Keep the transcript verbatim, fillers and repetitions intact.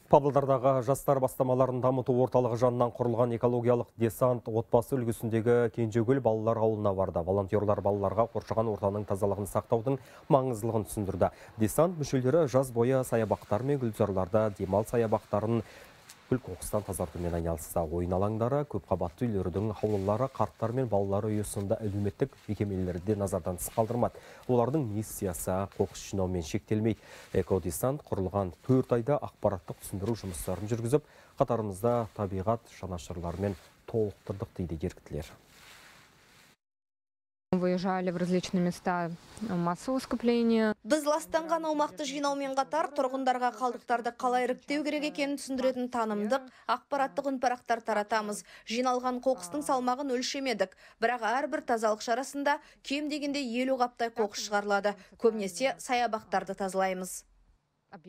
Павлодардағы жастар бастамаларын дамыту орталығы жанынан құрылған экологиялық десант отбасы үлгісіндегі Кенжегүл балалар ауылына барды. Волонтерлар балаларға қоршаған ортаның тазалығын сақтаудың маңыздылығын түсіндірді. Десант мүшелері жаз бойы саябақтар мен гүлзарларда демал саябақтарын күл қоқыстан тазартумен айналысты. Ойын алаңдары, көпқабатты үйлердің аулалары, қарттар мен балалар үйі сынды әлеуметтік мекемелерде назардан тыс қалдырмады. Олардың миссиясы қоқыс жинаумен шектелмейді. Экодесант құрылған төрт айда ақпараттық түсіндіру жұмыстарын жүргізіп, қатарымызда табиғат жанашырларымен толықтырдық дейді еріктілер. Выезжали в различные места массового скопления. Біз ластанған аумақты жинаумен қатар тұрғындарға қалдықтарды қалай іріктеу керек екенін түсіндіретін танымдық, ақпараттық үнпарақтар таратамыз. Жиналған қоқыстың салмағын өлшемедік, бірақ әрбір тазалық шарасында кем дегенде елу қаптай қоқыс шығарылады. Көбінесе саябақтарды тазалаймыз.